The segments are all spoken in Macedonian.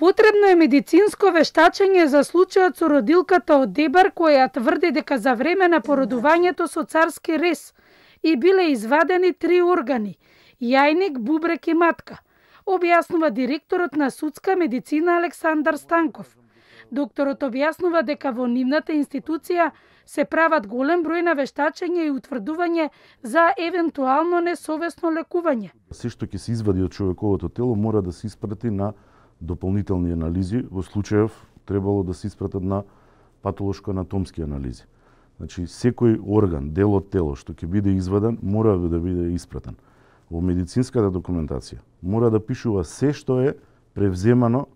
Потребно е медицинско вештачење за случајот со родилката од Дебар која тврди дека за време на породувањето со царски рез и биле извадени 3 органи – јајник, бубрек и матка, објаснува директорот на судска медицина Александар Станков. Докторот објаснува дека во нивната институција се прават голем број на вештачење и утврдување за евентуално несовесно лекување. Се што ќе се извади од човековото тело мора да се испрати на дополнителни анализи, во случајов требало да се испратат на патолошко-анатомски анализи. Значи, секој орган, дел од тело што ќе биде изваден, мора да биде испратен. Во медицинската документација мора да пишува се што е превземано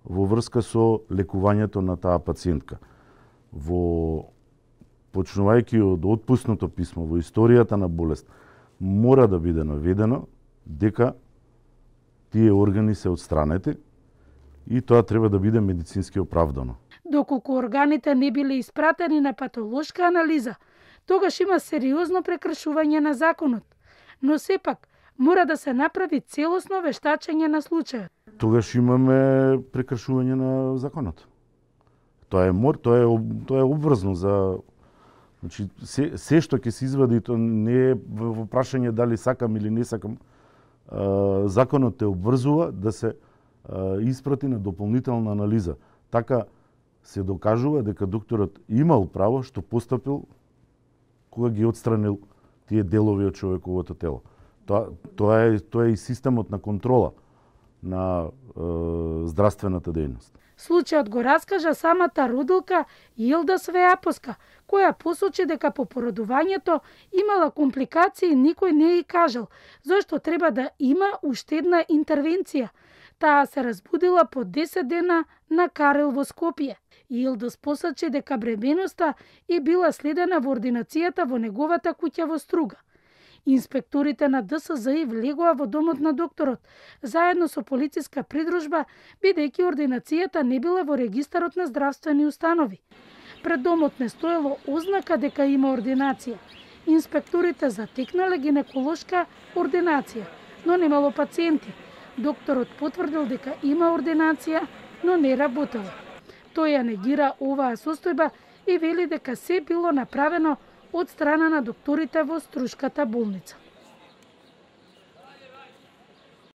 во врска со лекувањето на таа пациентка. Почнувајќи од отпуснато писмо, во историјата на болест, мора да биде наведено дека тие органи се отстранети и тоа треба да биде медицински оправдано. Доколку органите не биле испратени на патолошка анализа, тогаш има сериозно прекршување на законот, но сепак мора да се направи целосно вештачење на случајот. Тогаш имаме прекршување на законот. Тоа е обврзно за, значи се што ќе се извади, тоа не е во прашање дали сакам или не сакам. Законот те обврзува да се испрати на дополнителна анализа. Така се докажува дека докторот имал право што постапил кога ги отстранил тие делови од човековото тело. Тоа е и системот на контрола на здравствената дејност. Случајот го раскажа самата родилка Илда Свеапоска, која посочи дека по породувањето имала компликации и никој не ја кажал, зашто треба да има уште една интервенција. Таа се разбудила по 10 дена на Карел во Скопје. Илдос посочи дека бременоста е била следена во ординацијата во неговата куќа во Струга. Инспекторите на ДСЗ влегоа во домот на докторот, заедно со полициска придружба, бидејќи ординацијата не била во регистарот на здравствени установи. Пред домот не стоело ознака дека има ординација. Инспекторите затекнале гинеколошка ординација, но немало пациенти. Докторот потврдил дека има ординација, но не работела. Тој ја негира оваа состојба и вели дека се било направено од страна на докторите во Струшката болница.